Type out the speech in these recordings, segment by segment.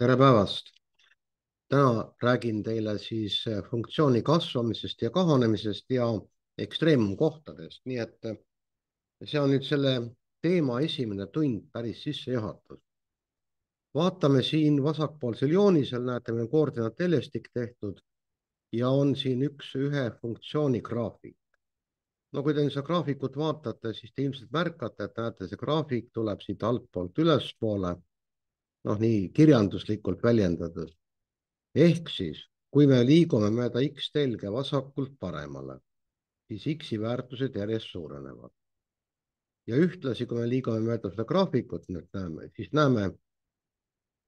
Tere päevast! Täna räägin teile siis funktsiooni kasvamisest ja kahanemisest ja ekstreemumkohtadest. Nii et see on nüüd selle teema esimene tund, päris sissejuhatus. Vaatame siin vasakpoolsel joonisel, näete, meil on koordinaateljestik tehtud ja on siin ühe funktsiooni graafik. No kui te seda graafikut vaatate, siis te ilmselt märkate, et näete, see graafik tuleb siit altpoolt ülespoole, nii kirjanduslikult väljendades. Ehk siis, kui me liigume mööda X-telge vasakult paremale, siis X-i väärtused järjest suurenevad. Ja ühtlasi, kui me liigume mööda seda graafikut, siis näeme,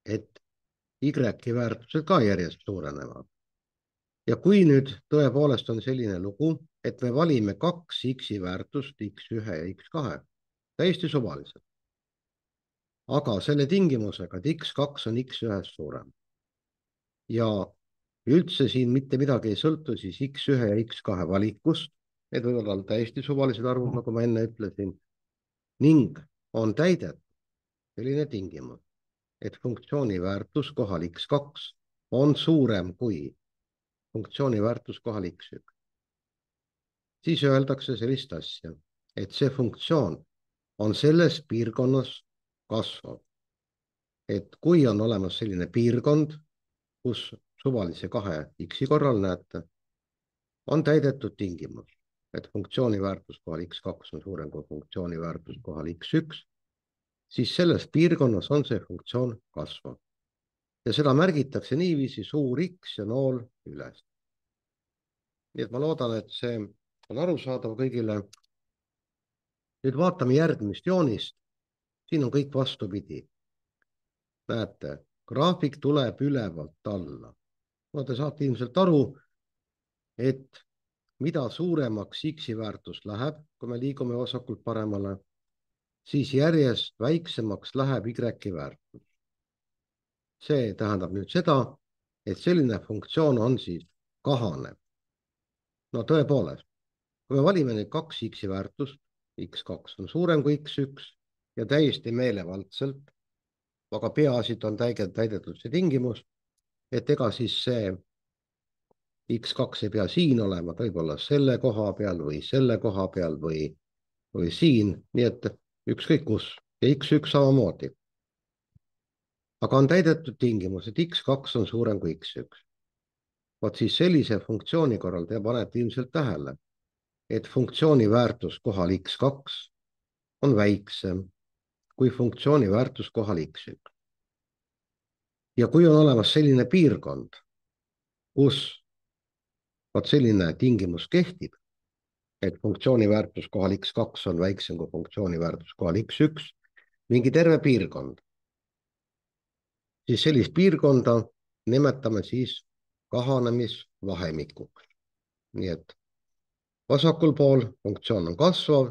et Y-i väärtused ka järjest suurenevad. Ja kui nüüd tõepoolest on selline lugu, et me valime kaks X-i väärtust, X1 ja X2, täiesti suvaliselt. Aga selle tingimusega, et X2 on X1-st suurem. Ja üldse siin mitte midagi ei sõltu siis X1 ja X2 valikust, need võivad olla täiesti suvalised arvud, nagu ma enne ütlesin, ning on täidetud selline tingimus, et funktsiooni väärtus kohal X2 on suurem kui funktsiooni väärtus kohal X1. Siis öeldakse sellist asja, et see funktsioon on selles piirkonnas kasvav. Et kui on olemas selline piirkond, kus suvalise kahe X-i korral näete, on täidetud tingimus, et funktsiooni väärtus kohal X2 on suurem kui funktsiooni väärtus kohal X1, siis selles piirkonnas on see funktsioon kasvav. Ja seda märgitakse niiviisi suur X ja nool üles. Nii et ma loodan, et see on arusaadav kõigile. Nüüd vaatame järgmist joonist. Siin on kõik vastupidi. Näete, graafik tuleb ülevalt alla. No te saate ilmselt aru, et mida suuremaks X-i väärtus läheb, kui me liigume vasakult paremale, siis järjest väiksemaks läheb Y-i väärtus. See tähendab nüüd seda, et selline funktsioon on siis kahanev. No tõepoolest, kui me valime neid kaks X-i väärtust, X2 on suurem kui X1 ja täiesti meelevaldselt, aga peaasjad on täidetud see tingimus, et ega siis see X2 ei pea siin olema, ta võib olla selle koha peal või selle koha peal või siin, nii et ükskõik kus ja X1 samamoodi. Aga on täidetud tingimus, et X2 on suurem kui X1. Vaat siis sellise funktsiooni korral te panete ilmselt tähele, et funktsiooni väärtus kohal X2 on väiksem kui funktsiooni väärtus kohal X1. Ja kui on olemas selline piirkond, kus vaat selline tingimus kehtib, et funktsiooni väärtus kohal X2 on väiksem kui funktsiooni väärtus kohal X1, mingi terve piirkond, siis sellist piirkonda nimetame siis kahanemisvahemikuks. Nii et vasakul pool funktsioon on kasvav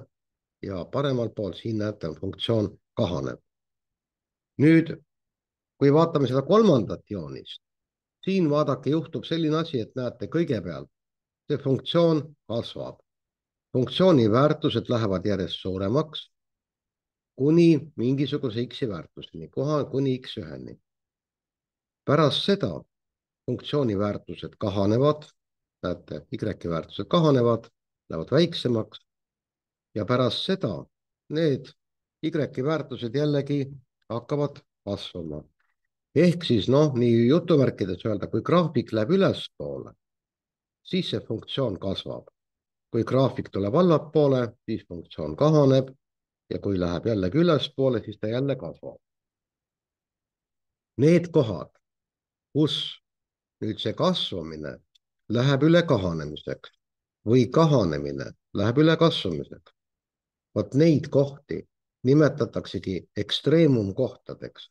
ja paremal pool siin näete on funktsioon kahanev. Nüüd, kui vaatame seda kolmandat joonist, siin vaadake juhtub selline asi, et näete kõigepealt, see funktsioon kasvab. Funktsiooni väärtused lähevad järjest suuremaks kuni mingisuguse X-i väärtuseni, kuni X1-ni. Pärast seda funktsiooni väärtused kahanevad, näete, Y-i väärtused kahanevad, lähevad väiksemaks ja pärast seda need Y-i väärtused jällegi hakkavad kasvama. Ehk siis nii jutumärkides öelda, kui graafik läheb ülespoole, siis see funktsioon kasvab. Kui graafik tuleb allapoole, siis funktsioon kahaneb ja kui läheb jällegi ülespoole, siis ta jälle kasvab. Need kohad, kus nüüd see kasvamine läheb üle kahanemiseks või kahanemine läheb üle kasvamiseks, vot neid kohti nimetataksegi ekstreemumkohtadeks.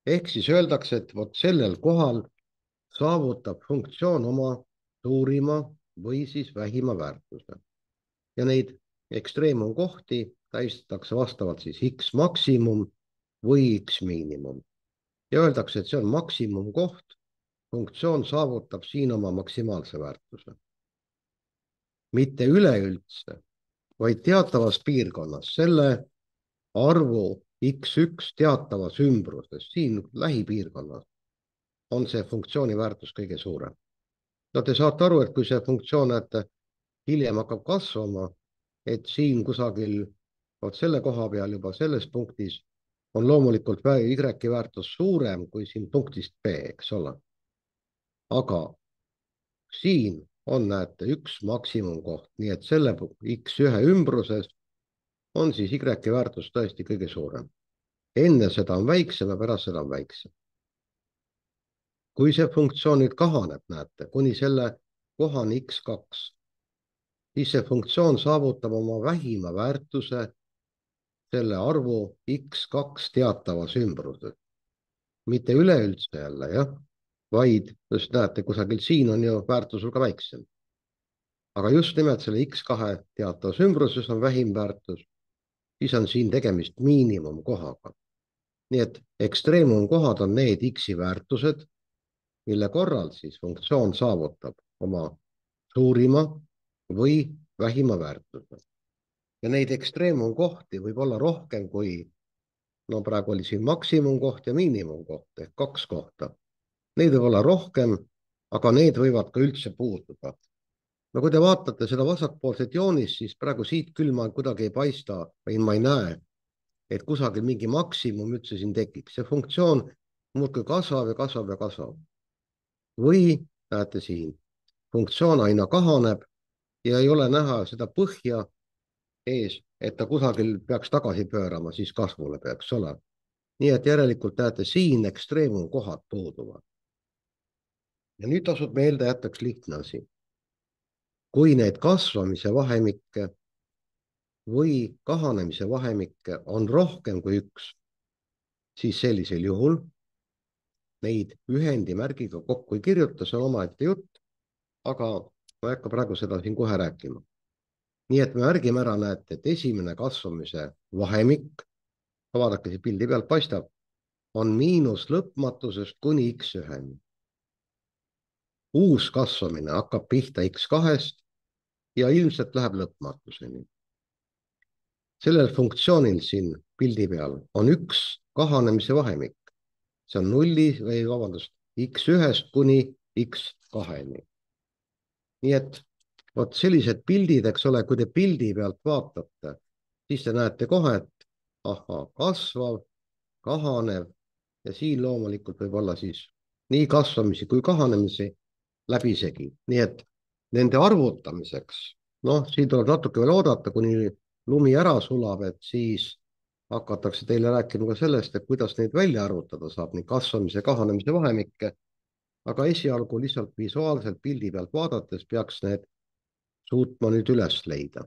Ehk siis öeldakse, et vot sellel kohal saavutab funktsioon oma suurima või siis vähima väärtuse. Ja neid ekstreemumkohti tähistatakse vastavalt siis X maksimum või X miinimum. Ja öeldakse, et see on maksimumkoht, funktsioon saavutab siin oma maksimaalse väärtuse. Mitte üleüldse, vaid teatavas piirkonnas, selle arvu X1 teatavas ümbruses, siin lähipiirkonnas, on see funktsiooni väärtus kõige suurem. No te saate aru, et kui see funktsioon, näete, hiljem hakkab kasvama, et siin kusagil vot selle koha peal juba selles punktis on loomulikult Y väärtus suurem kui siin punktist B, eks ole. Aga siin on, näete, üks maksimumkoht, nii et selle X1 ümbruses on siis Y väärtus tõesti kõige suurem. Enne seda on väiksem ja pärast seda on väiksem. Kui see funktsioon nüüd kahaneb, näete, kuni selle kohani X2, siis see funktsioon saavutab oma vähima väärtuse selle arvu X2 teatavas ümbruses. Mitte üleüldse jälle, jah, vaid just näete, kusagil siin on ju väärtus hulga väiksem. Aga just nimelt selle X2 teatavas ümbruses on vähim väärtus, siis on siin tegemist miinimumkohaga. Nii et ekstreemumkohad on need X-i väärtused, mille korral siis funktsioon saavutab oma suurima või vähima väärtuse. Ja neid ekstreemumkohti võib olla rohkem kui, no praegu oli siin maksimumkoht ja miinimumkoht ehk 2 kohta. Neid võib olla rohkem, aga need võivad ka üldse puududa. No kui te vaatate seda vasakpoolset joonist, siis praegu siit küll ma kuidagi ei paista või ma ei näe, et kusagil mingi maksimum üldse siin tekiks. See funktsioon muudkui kasvab ja kasvab ja kasvab. Või näete siin, funktsioon aina kahaneb ja ei ole näha seda põhja ees, et ta kusagil peaks tagasi pöörama, siis kasvule peaks ole. Nii et järelikult näete siin ekstreemumkohad puuduvad. Ja nüüd tasub meelde jätta üks lihtne asi. Kui neid kasvamise vahemikke või kahanemise vahemikke on rohkem kui 1, siis sellisel juhul neid ühendimärgiga kokku ei kirjuta, see on omaette jutt, aga ma ei hakka praegu seda siin kohe rääkima. Nii et me märgime ära, näete, et esimene kasvamise vahemik, vaadake siin pildi pealt paistab, on miinus lõpmatusest kuni X1. Uus kasvamine hakkab pihta X2-st ja ilmselt läheb lõpmatuseni. Sellel funktsioonil siin pildi peal on üks kahanemise vahemik. See on X1-st kuni X2-ni. Nii et vot sellised pildid, eks ole, kui te pildi pealt vaatate, siis te näete kohe, et kasvav, kahanev ja siin loomulikult võib olla siis nii kasvamisi kui kahanemisi läbisegi. Nii et nende arvutamiseks, siin tuleb natuke veel oodata, kuni lumi ära sulab, et siis hakatakse teile rääkima ka sellest, et kuidas neid välja arvutada saab, nii kasvamise ja kahanemise vahemikke, aga esialgu lihtsalt visuaalselt pildi pealt vaadates peaks need suutma nüüd üles leida.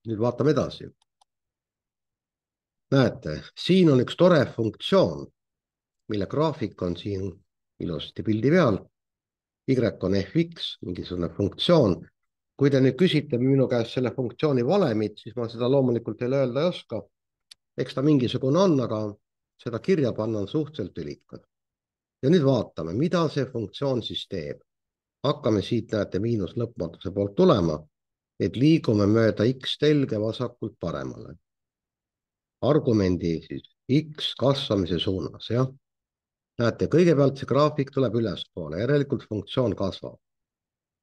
Nüüd vaatame edasi. Näete, siin on üks tore funktsioon, mille graafik on siin ilusasti pildi peal. Y on fx, mingisugune funktsioon. Kui te nüüd küsite minu käest selle funktsiooni valemit, siis ma seda loomulikult teile öelda ei oska. Eks ta mingisugune on, aga seda kirja panna on suhteliselt ülikad. Ja nüüd vaatame, mida see funktsioon siis teeb. Hakkame siit, näete, miinus lõpmatuse poolt tulema, et liigume mööda X telge vasakult paremale. Argumendi siis X kasvamise suunas, jah. Näete, kõigepealt see graafik tuleb ülespoole, järelikult funktsioon kasvab.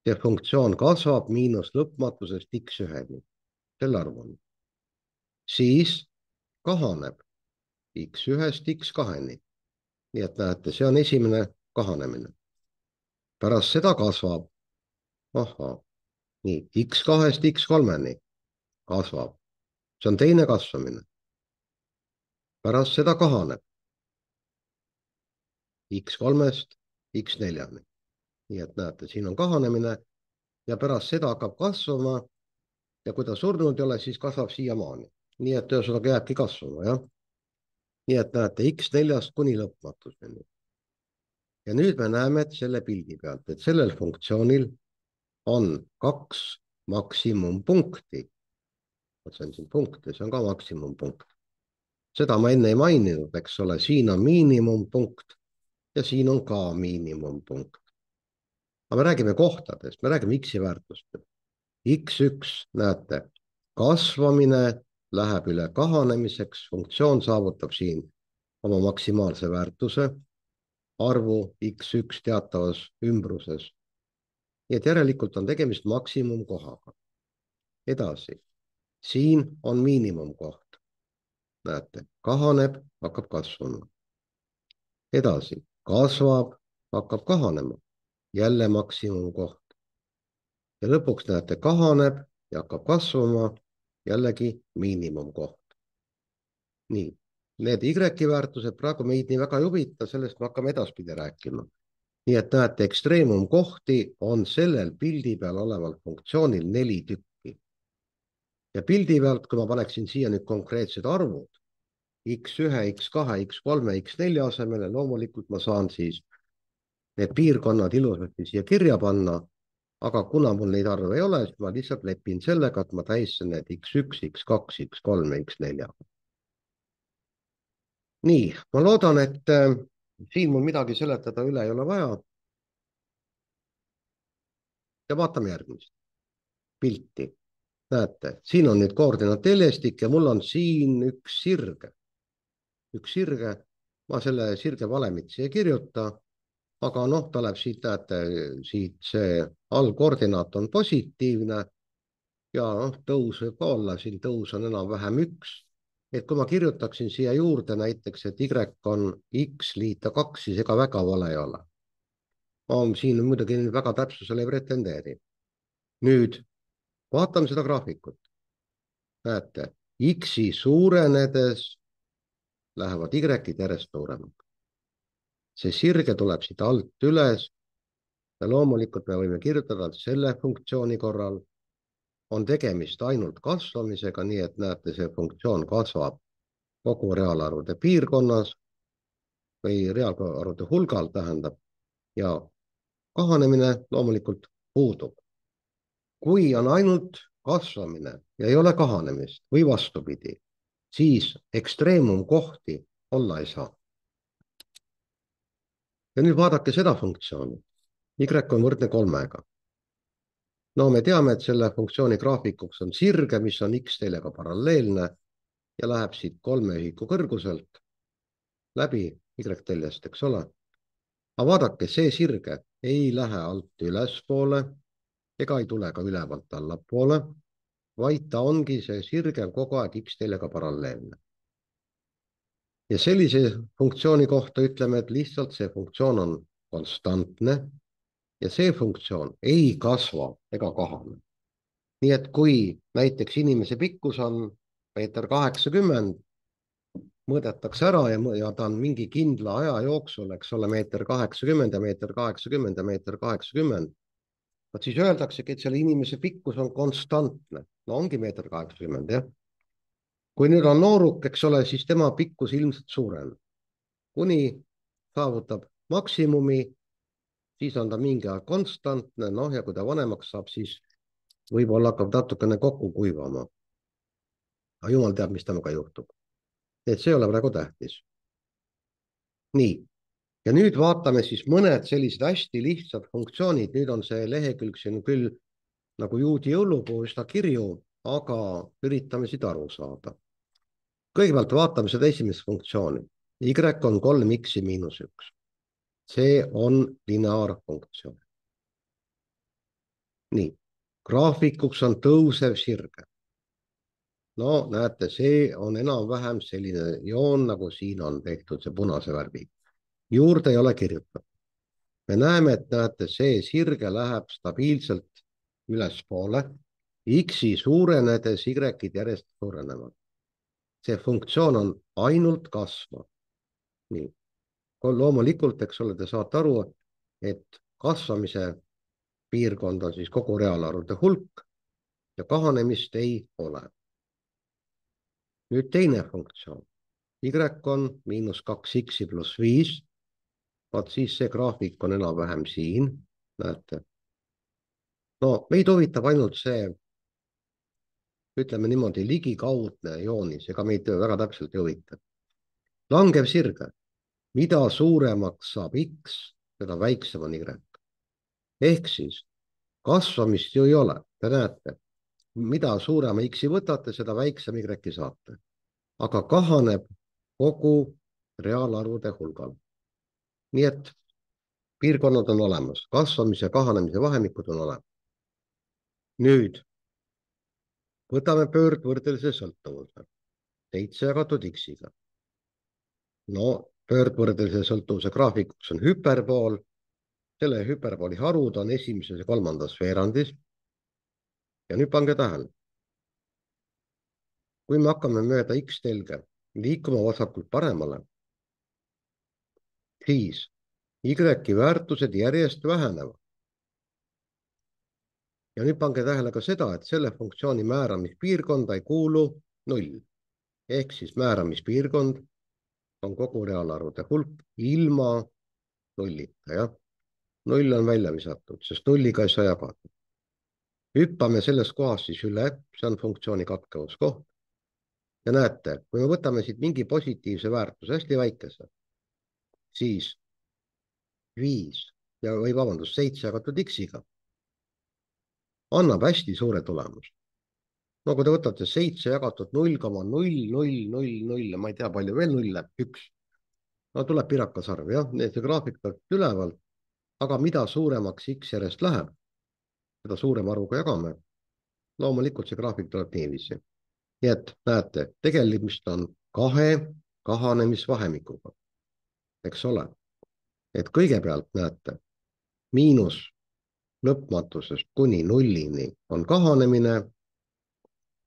See funktsioon kasvab miinus lõpmatusest X1-ni, selle arvuni. Siis kahaneb X1-st X2-ni. Nii et näete, see on esimene kahanemine. Pärast seda kasvab, nii, X2-st X3-ni kasvab. See on teine kasvamine. Pärast seda kahaneb X3-st X4-ni. Nii et näete, siin on kahanemine ja pärast seda hakkab kasvama ja kui ta surnud ei ole, siis kasvab siiamaani. Nii et ühesõnaga jääbki kasvama, jah. Nii et näete X4-st kuni lõpmatuseni. Ja nüüd me näeme, et selle pildi pealt, et sellel funktsioonil on 2 maksimumpunkti. See on siin punkt ja see on ka maksimumpunkt. Seda ma enne ei maininud, eks ole, siin on miinimumpunkt ja siin on ka miinimumpunkt. Aga me räägime kohtadest, me räägime X-i väärtust. X1, näete, kasvamine läheb üle kahanemiseks, funktsioon saavutab siin oma maksimaalse väärtuse. arvu x1 teatavas ümbruses. Nii et järelikult on tegemist maksimumkohaga. Edasi, siin on miinimumkoht. Näete, kahaneb, hakkab kasvama. Edasi, kasvab, hakkab kahanema. Jälle maksimumkoht. Ja lõpuks näete, kahaneb ja hakkab kasvama, jällegi miinimumkoht. Nii, need Y väärtused praegu meid nii väga ei huvita, sellest me hakkame edaspidi rääkima. Nii et näete, ekstreemumkohti on sellel pildi peal oleval funktsioonil 4 tükki. Ja pildi pealt, kui ma paneksin siia nüüd konkreetsed arvud, x1, x2, x3, x4 asemele, loomulikult ma saan siis need piirkonnad ilusasti siia kirja panna, aga kuna mul neid arve ei ole, siis ma lihtsalt lepin sellega, et ma tähistan need x1, x2, x3 ja x4. Nii, ma loodan, et siin mul midagi seletada üle ei ole vaja. Ja vaatame järgmist pilti. Näete, siin on nüüd koordinaateljestik ja mul on siin üks sirge. Ma selle sirge valemit siia ei kirjuta, aga noh, ta läheb siit, näete, siit see allkoordinaat on positiivne ja noh, tõus võib ka olla, siin tõus on enam-vähem 1. Et kui ma kirjutaksin siia juurde näiteks, et Y on X liita 2, siis ega väga vale ei ole. Ma siin muidugi väga täpsusele ei pretendeeri. Nüüd vaatame seda graafikut. Näete, X-i suurenedes lähevad Y-id järjest suuremaks. See sirge tuleb siit alt üles ja loomulikult me võime kirjutada selle funktsiooni korral on tegemist ainult kasvamisega, nii et näete, see funktsioon kasvab kogu reaalarvude piirkonnas või reaalarvude hulgal tähendab ja kahanemine loomulikult puudub. Kui on ainult kasvamine ja ei ole kahanemist või vastupidi, siis ekstreemumkohti olla ei saa. Ja nüüd vaadake seda funktsiooni. Y on võrdne 3-ga. No me teame, et selle funktsiooni graafikuks on sirge, mis on X teljega paralleelne ja läheb siit 3 ühiku kõrguselt läbi Y teljest, eks ole. Aga vaadake, see sirge ei lähe alt ülespoole ega ei tule ka ülevalt allapoole, vaid ta ongi see sirge kogu aeg X teljega paralleelne. Ja sellise funktsiooni kohta ütleme, et lihtsalt see funktsioon on konstantne ja see funktsioon ei kasva ega kahane. Nii et kui näiteks inimese pikkus on 1,80 m, mõõdetakse ära ja ta on mingi kindla aja jooksul, eks ole, 1,80 m ja 1,80 m ja 1,80 m, siis öeldaksegi, et selle inimese pikkus on konstantne. No ongi 1,80 m, jah. Kui nüüd on nooruk, eks ole, siis tema pikkus ilmselt suurem. Kuni saavutab maksimumi, siis on ta mingi aeg konstantne, noh ja kui ta vanemaks saab, siis võib-olla hakkab natukene kokku kuivama. Aga jumal teab, mis temaga juhtub. Et see ei ole praegu tähtis. Nii, ja nüüd vaatame siis mõned sellised hästi lihtsad funktsioonid. Nüüd on see lehekülg siin küll nagu juudi jõulupuu üsna kirju, aga üritame siit aru saada. Kõigepealt vaatame seda esimest funktsiooni. Y on 3x miinus 1. See on lineaarfunktsioon. Nii, graafikuks on tõusev sirge. No näete, see on enam-vähem selline joon, nagu siin on tehtud see punase värvi. Juurde ei ole kirjutatud. Me näeme, et näete, see sirge läheb stabiilselt ülespoole. X-i suurenedes Y-id järjest suurenevad. See funktsioon on ainult kasvav. Nii. Loomulikult, eks ole, te saate aru, et kasvamise piirkond on siis kogu reaalarvude hulk ja kahanemist ei ole. Nüüd teine funktsioon. Y on miinus 2x pluss 5. Vaat siis see graafik on enam-vähem siin. Näete. No meid huvitab ainult see, ütleme niimoodi, ligikaudne joonis, ega meid väga täpselt ei huvita. Langev sirge. Mida suuremaks saab X, seda väiksem on Y. Ehk siis kasvamist ju ei ole. Te näete, mida suurema X-i võtate, seda väiksem Y-i saate. Aga kahaneb kogu reaalarvude hulgal. nii et piirkonnad on olemas, kasvamise ja kahanemise vahemikud on olemas. Nüüd võtame pöördvõrdelise sõltuvuse, 7 jagatud x-iga. No pöördvõrdelise sõltuvuse graafikuks on hüperbool, selle hüperbooli harud on esimeses ja kolmandas veerandis. Ja nüüd pange tähele, kui me hakkame mööda x-telge liikuma vasakult paremale, siis y-i väärtused järjest vähenevad. Ja nüüd pange tähele ka seda, et selle funktsiooni määramispiirkonda ei kuulu 0. Ehk siis määramispiirkond on kogu reaalarvude hulk ilma nullita, jah. 0 on välja visatud, sest nulliga ei saa jagada. Hüppame sellest kohast siis üle, see on funktsiooni katkevuskoht. Ja näete, kui me võtame siit mingi positiivse väärtuse, hästi väikese, siis 5 või vabandust, 7 jagatud x-iga annab hästi suure tulemuse. No kui te võtate 7 jagatud 0,0000, ma ei tea, palju veel nulle, 1. No tuleb pirakasarv, jah, see graafik tuleb ülevalt, aga mida suuremaks x järjest läheb, seda suurema arvuga jagame. Loomulikult see graafik tuleb niiviisi. Nii et näete, tegemist on kahe kahanemisvahemikuga, eks ole. Et kõigepealt näete, miinus lõpmatusest kuni nullini on kahanemine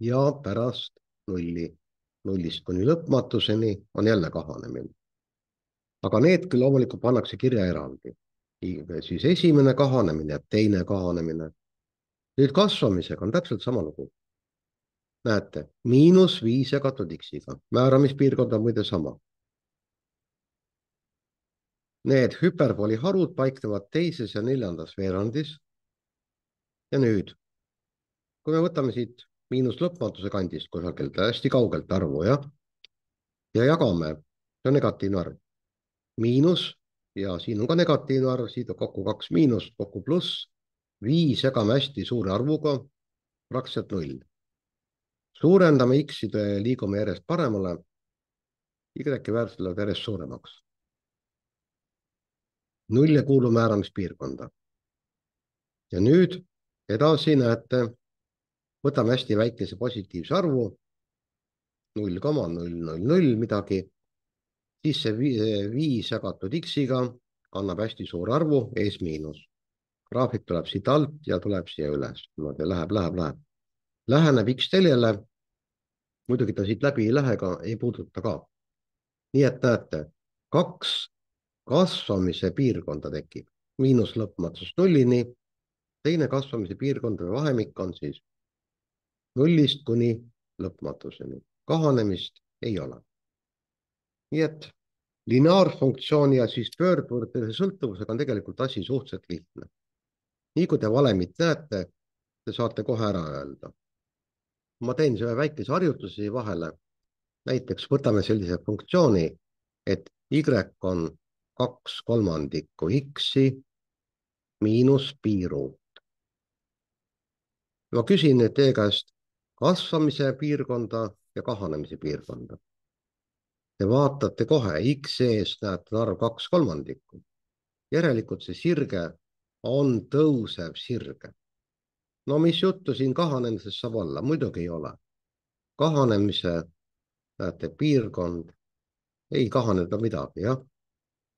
ja pärast nullist kuni lõpmatuseni on jälle kahanemine. Aga need küll loomulikult pannakse kirja eraldi. Siis esimene kahanemine ja teine kahanemine. Nüüd kasvamisega on täpselt sama lugu. Näete, -5 jagatud x-iga. Määramispiirkond on muide sama. Need hüperbooli harud paiknevad teises ja neljandas veerandis. Ja nüüd, kui me võtame siit miinus lõpmatuse kandist kusagilt hästi kaugelt arvu, jah, ja jagame, see on negatiivne arv, miinus ja siin on ka negatiivne arv, siit on kokku 2 miinust, kokku pluss, 5 jagame hästi suure arvuga, praktiliselt 0. Suurendame x-ide ja liigume järjest paremale, y-i väärtused lähevad järjest suuremaks. 0 ei kuulu määramispiirkonda. Ja nüüd edasi näete, võtame hästi väikese positiivse arvu, 0,000 midagi, siis see 5 jagatud x-iga annab hästi suur arvu, ees miinus. Graafik tuleb siit alt ja tuleb siia üles. Läheb. Läheneb x-teljele, muidugi ta siit läbi ei lähe, ei puuduta ka. Nii et näete, 2 kasvamise piirkonda tekib, miinus lõpmatusest nullini, teine kasvamise piirkond või vahemik on siis 0-st kuni lõpmatuseni. Kahanemist ei ole. Nii et lineaarfunktsiooni ja siis pöördvõrdelise sõltuvusega on tegelikult asi suhteliselt lihtne. Nii kui te valemit näete, te saate kohe ära öelda. Ma teen selle väikese harjutuse vahele. Näiteks võtame sellise funktsiooni, et y on 2/3 x-i miinus piiruut. Ma küsin nüüd teie käest kasvamise piirkonda ja kahanemise piirkonda. Te vaatate kohe, x eest näete arv 2/3. Järelikult see sirge on tõusev sirge. No mis juttu siin kahanemises saab olla? Muidugi ei ole. Kahanemise, näete, piirkond ei kahaneda midagi, jah.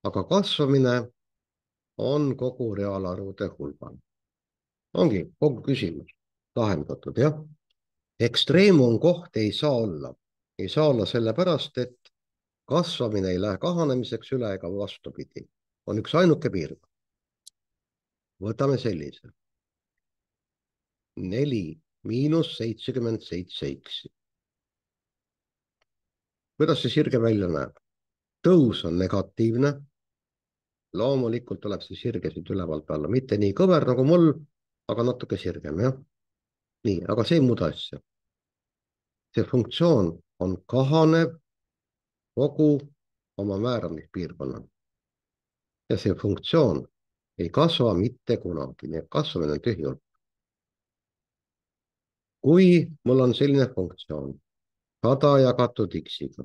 Aga kasvamine on kogu reaalarvude hulgal. Ongi kogu küsimus lahendatud, jah. Ekstreemum koht ei saa olla. Ei saa olla sellepärast, et kasvamine ei lähe kahanemiseks üle ega vastupidi. On üks ainuke piirkond. Võtame sellise. 4 miinus 77 x. Kuidas see sirge välja näeb? Tõus on negatiivne. Loomulikult tuleb see sirge siit ülevalt alla. Mitte nii kõver nagu mul, aga natuke sirgem, jah. Nii, aga see ei muuda asja. See funktsioon on kahanev kogu oma määramispiirkonnal. Ja see funktsioon ei kasva mitte kunagi, nii et kasvamine on tühi hulk. Kui mul on selline funktsioon, 100 jagatud x-iga.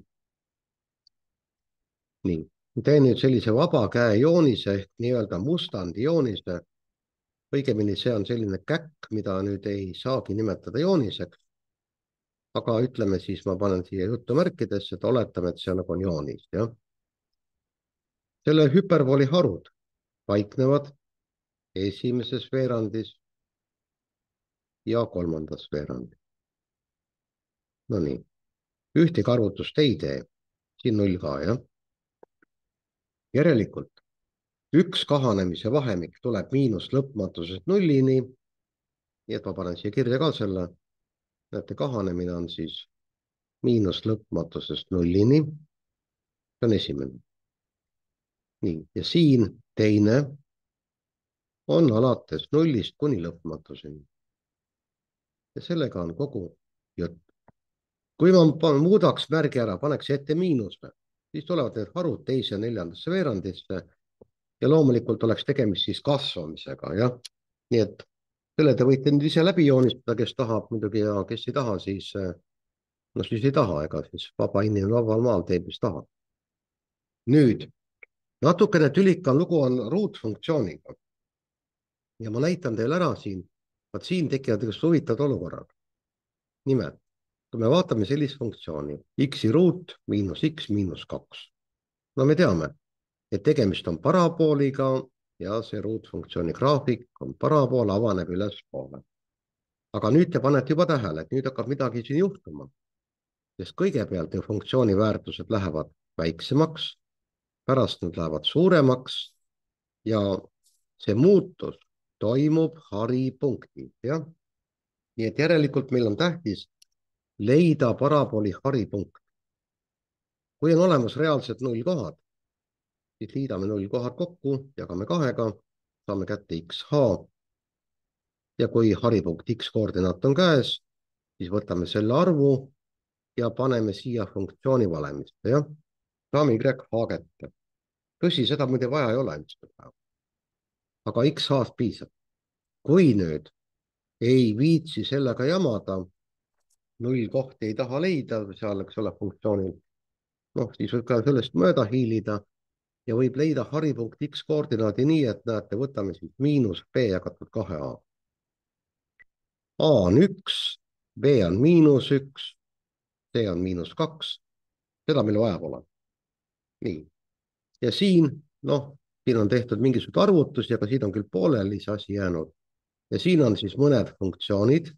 Nii, teen nüüd sellise vaba käe joonise ehk nii-öelda mustandi joonise. Õigemini see on selline käkk, mida nüüd ei saagi nimetada jooniseks. Aga ütleme siis, ma panen siia jutumärkidesse, et oletame, et see nagu on joonis, jah. Selle hüperbooli harud paiknevad esimeses veerandis ja kolmandas veerandis. No nii, ühtegi arvutust ei tee, siin 0 ka, jah. Järelikult üks kahanemise vahemik tuleb miinus lõpmatusest 0-ni. Nii et ma panen siia kirja ka selle. Näete, kahanemine on siis miinus lõpmatusest 0-ni. See on esimene. Nii, ja siin teine on alates 0-st kuni lõpmatuseni. Ja sellega on kogu jutt. Kui ma muudaks märgi ära, paneks ette miinuse, siis tulevad need harud teise ja neljandasse veerandisse ja loomulikult oleks tegemist siis kasvamisega, jah. Nii et selle te võite nüüd ise läbi joonistada, kes tahab muidugi ja kes ei taha, siis no siis ei taha, ega siis vaba inimene vabal maal teeb, mis tahab. Nüüd, natukene tülikam lugu on ruutfunktsiooniga. Ja ma näitan teile ära siin, vaat siin tekivad just huvitavad olukorrad. Nimelt, kui me vaatame sellist funktsiooni, x-i ruut miinus x miinus 2. No me teame, et tegemist on parabooliga ja see ruutfunktsiooni graafik on parabool, avaneb ülespoole. Aga nüüd te panete juba tähele, et nüüd hakkab midagi siin juhtuma. Sest kõigepealt ju funktsiooni väärtused lähevad väiksemaks, pärast nad lähevad suuremaks ja see muutus toimub haripunktis, jah. Nii et järelikult meil on tähtis leida parabooli haripunkt. Kui on olemas reaalsed nullkohad, siis liidame nullkohad kokku, jagame 2-ga, saame kätte xh. Ja kui haripunkt x koordinaat on käes, siis võtame selle arvu ja paneme siia funktsiooni valemisse, jah. Saame yh kätte. Tõsi, seda muide vaja ei ole. Aga xh-st piisab. Kui nüüd ei viitsi sellega jamada, nullkohti ei taha leida, seal, eks ole, funktsioonil, noh, siis võib ka sellest mööda hiilida ja võib leida haripunkt x koordinaadi nii, et näete, võtame siis miinus b jagatud 2a. A on 1, b on miinus 1, c on miinus 2, seda meil vaja pole. Nii, ja siin, noh, siin on tehtud mingisugune arvutus, aga siin on küll pooleli see asi jäänud. Ja siin on siis mõned funktsioonid,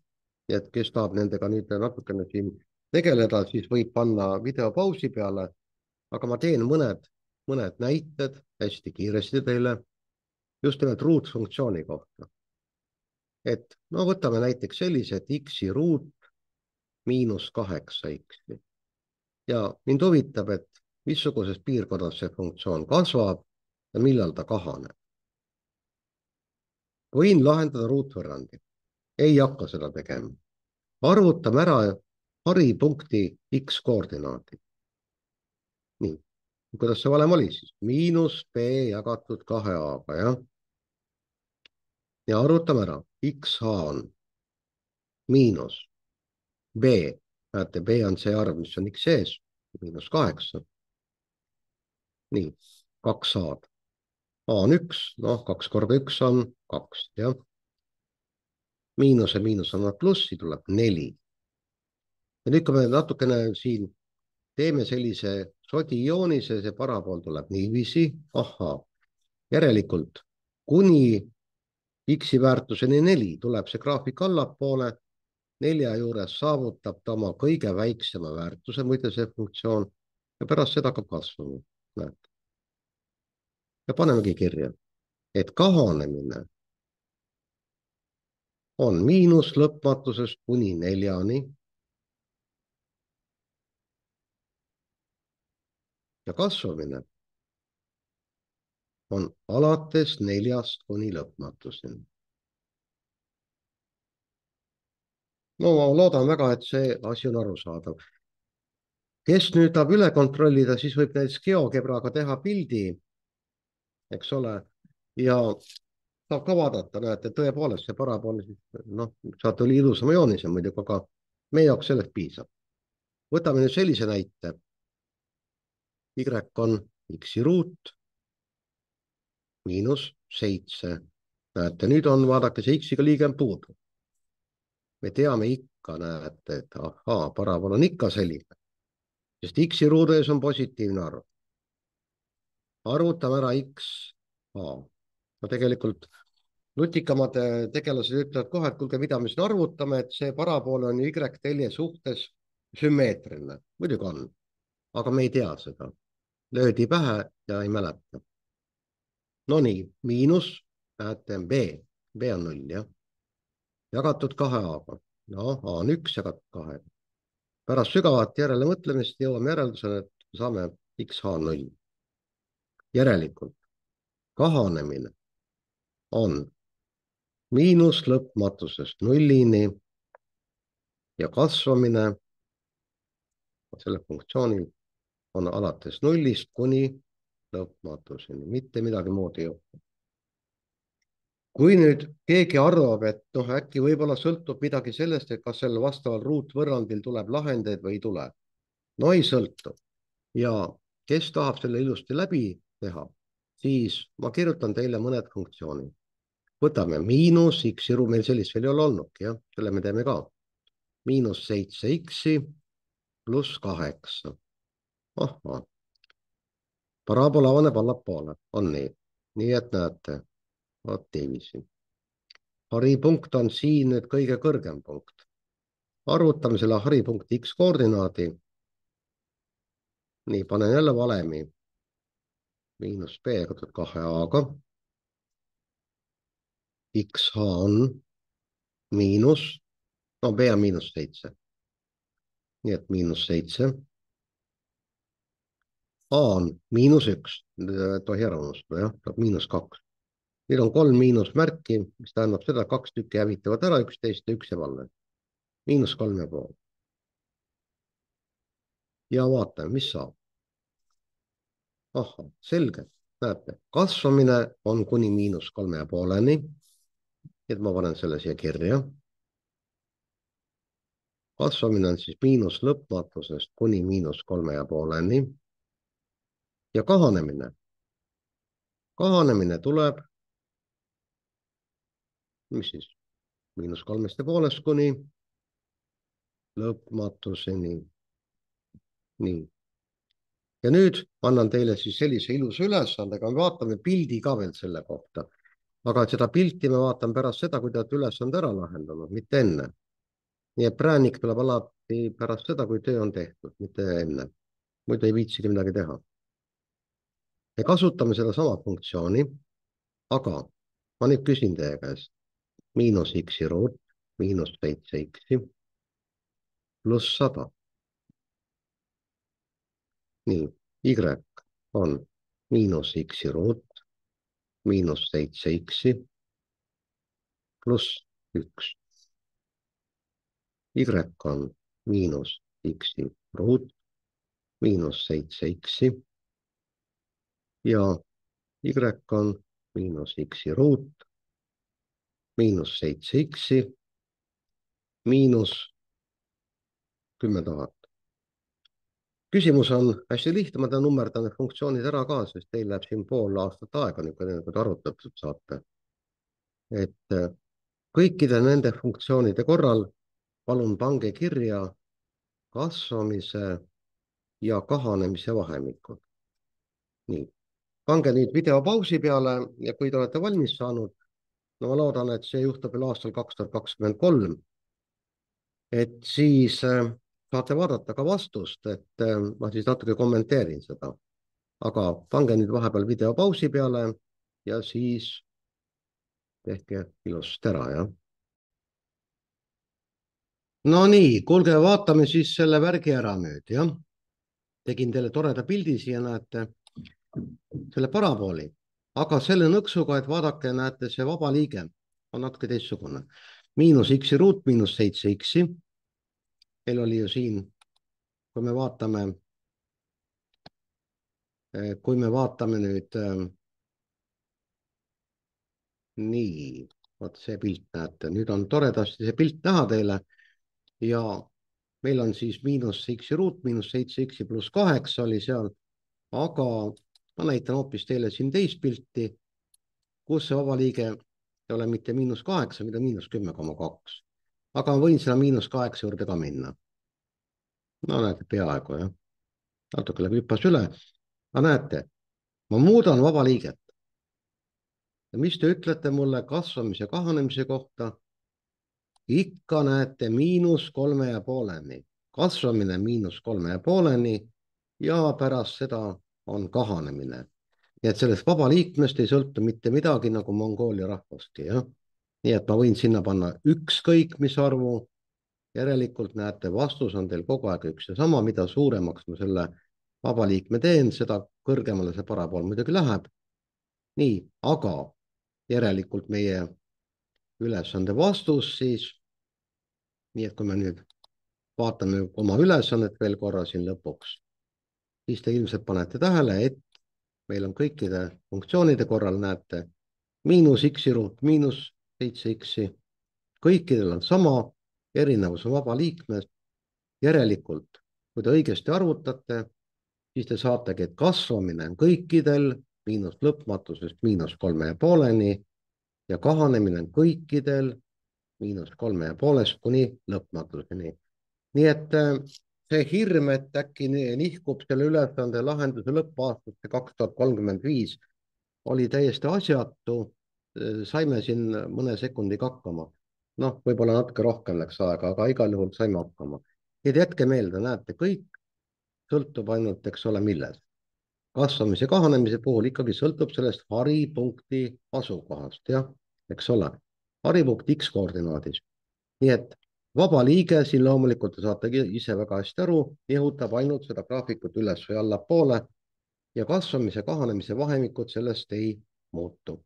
et kes tahab nendega nüüd natukene siin tegeleda, siis võib panna video pausi peale, aga ma teen mõned näited hästi kiiresti teile just nimelt ruutfunktsiooni kohta. Et no võtame näiteks sellise, et x-i ruut miinus 8x. Ja mind huvitab, et missuguses piirkonnas see funktsioon kasvab ja millal ta kahaneb. Võin lahendada ruutvõrrandi. Ei hakka seda tegema. Arvutame ära haripunkti x koordinaadi. Nii, kuidas see valem oli siis? Miinus b jagatud 2a-ga, jah. Ja arvutame ära. xh on miinus b. Näete, b on see arv, mis on x ees. Miinus 8. Nii, 2a-d. A on 1, noh, 2 korda 1 on 2, jah. Miinus ja miinus annab plussi, tuleb 4. Ja nüüd, kui me natukene siin teeme sellise sodijoonise, see parabool tuleb niiviisi, ahhaa, järelikult kuni x-i väärtuseni 4 tuleb see graafik allapoole, 4 juures saavutab ta oma kõige väiksema väärtuse, muide see funktsioon, ja pärast seda hakkab kasvama, näete. Ja panemegi kirja, et kahanemine on miinus lõpmatusest kuni 4-ni ja kasvamine on alates 4-st kuni lõpmatuseni. No ma loodan väga, et see asi on arusaadav. Kes nüüd tahab üle kontrollida, siis võib näiteks GeoGebraga teha pildi, eks ole, ja saab ka vaadata, näete, tõepoolest see parabool, noh, saate oli ilusama joonise muidugi, aga meie jaoks sellest piisab. Võtame nüüd sellise näite. Y on x-i ruut miinus 7. Näete, nüüd on, vaadake, see x-iga liige on puudu. Me teame ikka, näete, et ahaa, parabool on ikka selline, sest x-i ruudu ees on positiivne arv. Arvutame ära x a. No tegelikult nutikamad tegelased ütlevad kohe, et kuulge, mida me siin arvutame, et see parabool on y-telje suhtes sümmeetriline. Muidugi on, aga me ei tea seda. Löödi pähe ja ei mäleta. No nii, miinus, näete, b on 0, jah. Jagatud 2a-ga. No, a on 1 jagatud 2. Pärast sügavat järelemõtlemist jõuame järeldusele, et saame x h on 0. Järelikult kahanemine on miinus lõpmatusest nullini ja kasvamine selle funktsioonil on alates nullist kuni lõpmatuseni, mitte midagi muud ei juhtu. Kui nüüd keegi arvab, et äkki võib-olla sõltub midagi sellest, et kas sellel vastaval ruutvõrrandil tuleb lahendeid või ei tule. No ei sõltu. Ja kes tahab selle ilusti läbi teha, siis ma kirjutan teile mõned funktsioonid. Võtame miinus x-i ruut, meil sellist veel ei ole olnudki, jah, selle me teeme ka. Miinus 7x pluss 8. Ahah. Paraabola avaneb allapoole, on nii. Nii et näete, vaat niiviisi. Haripunkt on siin nüüd kõige kõrgem punkt. Arvutame selle haripunkti x koordinaadi. Nii, panen jälle valemi. Miinus b jagatud 2a-ga. X h on miinus, no b on miinus 7. Nii et miinus 7. A on miinus 1, tohi ära unustada, jah, miinus 2. Meil on 3 miinusmärki, mis tähendab seda, 2 tükki hävitavad ära üksteist ja 1 jääb alla. Miinus 3,5. Ja vaatame, mis saab. Ahah, selge. Näete, kasvamine on kuni miinus 3,5-ni. Et ma panen selle siia kirja. Kasvamine on siis miinus lõpmatusest kuni miinus 3,5-ni. Ja kahanemine. Kahanemine tuleb, mis siis, miinus 3,5 kuni lõpmatuseni. Nii. Ja nüüd annan teile siis sellise ilusa ülesandega, me vaatame pildi ka veel selle kohta. Aga seda pilti me vaatame pärast seda, kui te olete ülesande ära lahendanud, mitte enne. Nii et präänik tuleb alati pärast seda, kui töö on tehtud, mitte enne. Muidu ei viitsigi midagi teha. Me kasutame seda sama funktsiooni, aga ma nüüd küsin teie käest. Miinus x-i ruut, miinus 7x pluss 100. Nii, y on miinus x-i ruut, miinus 7x pluss 1. Y on miinus x-i ruut, miinus 7x ja y on miinus x-i ruut, miinus 7x miinus 10 000. Küsimus on hästi lihtne, ma nummerdan need funktsioonid ära ka, sest teil läheb siin pool aastat aega, kui te arvutatud saate. Et kõikide nende funktsioonide korral palun pange kirja kasvamise ja kahanemise vahemikud. Nii, pange nüüd video pausi peale ja kui te olete valmis saanud, no ma loodan, et see juhtub veel aastal 2023, et siis saate vaadata ka vastust, et ma siis natuke kommenteerin seda. Aga pange nüüd vahepeal video pausi peale ja siis tehke ilusasti ära, jah. No nii, kuulge, vaatame siis selle värgi ära nüüd, jah. Tegin teile toreda pildi siia, näete, selle parabooli. Aga selle nõksuga, et vaadake, näete, see vaba liige on natuke teistsugune. Miinus x-i ruut, miinus 7x. Meil oli ju siin, kui me vaatame nüüd nii, vaat see pilt näete, nüüd on toredasti see pilt näha teile ja meil on siis miinus x-i ruut, miinus 7x pluss 8 oli seal, aga ma näitan hoopis teile siin teist pilti, kus see vaba liige ei ole mitte -8, mida -10,2. aga ma võin sinna -8 juurde ka minna. No näete, peaaegu jah, natuke läheb hüppas üle. aga näete, ma muudan vaba liiget. ja mis te ütlete mulle kasvamise ja kahanemise kohta? Ikka näete -3,5-ni, kasvamine -3,5-ni ja pärast seda on kahanemine. nii et sellest vaba liikmest ei sõltu mitte midagi nagu Mongoolia rahvaski, jah. nii et ma võin sinna panna ükskõik mis arvu. järelikult näete, vastus on teil kogu aeg üks ja sama, mida suuremaks ma selle vaba liikme teen, seda kõrgemale see parapool muidugi läheb. nii, aga järelikult meie ülesande vastus siis, nii et kui me nüüd vaatame oma ülesannet veel korra siin lõpuks, siis te ilmselt panete tähele, et meil on kõikide funktsioonide korral, näete, -x ruut -7x. kõikidel on sama, erinevus on vaba liikmes. järelikult, kui te õigesti arvutate, siis te saategi, et kasvamine on kõikidel miinus lõpmatusest -3,5-ni ja kahanemine on kõikidel -3,5 kuni lõpmatuseni. nii et see hirm, et äkki nihkub selle ülesande lahenduse lõppaastasse 2035, oli täiesti asjatu. saime siin mõne sekundiga hakkama. noh, võib-olla natuke rohkem läks aega, aga igal juhul saime hakkama. nii et jätke meelde, näete, kõik sõltub ainult, eks ole, millest. kasvamise ja kahanemise puhul ikkagi sõltub sellest haripunkti asukohast, jah, eks ole. haripunkt X koordinaadis. nii et vaba liige siin loomulikult te saate ise väga hästi aru, nihutab ainult seda graafikut üles või allapoole ja kasvamise ja kahanemise vahemikud sellest ei muutu.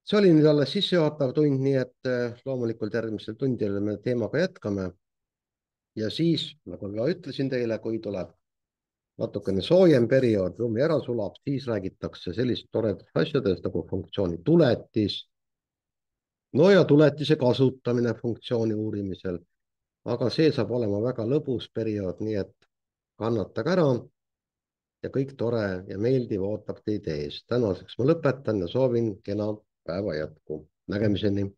see oli nüüd alles sissejuhatav tund, nii et loomulikult järgmisel tundidel me teemaga jätkame. ja siis, nagu ma ütlesin teile, kui tuleb natukene soojem periood, lumi ära sulab, siis räägitakse sellist toredatest asjadest nagu funktsiooni tuletis. no ja tuletise kasutamine funktsiooni uurimisel. aga see saab olema väga lõbus periood, nii et kannatage ära ja kõik tore ja meeldiv ootab teid ees. tänaseks ma lõpetan ja soovin kena päeva jätku. Nägemiseni.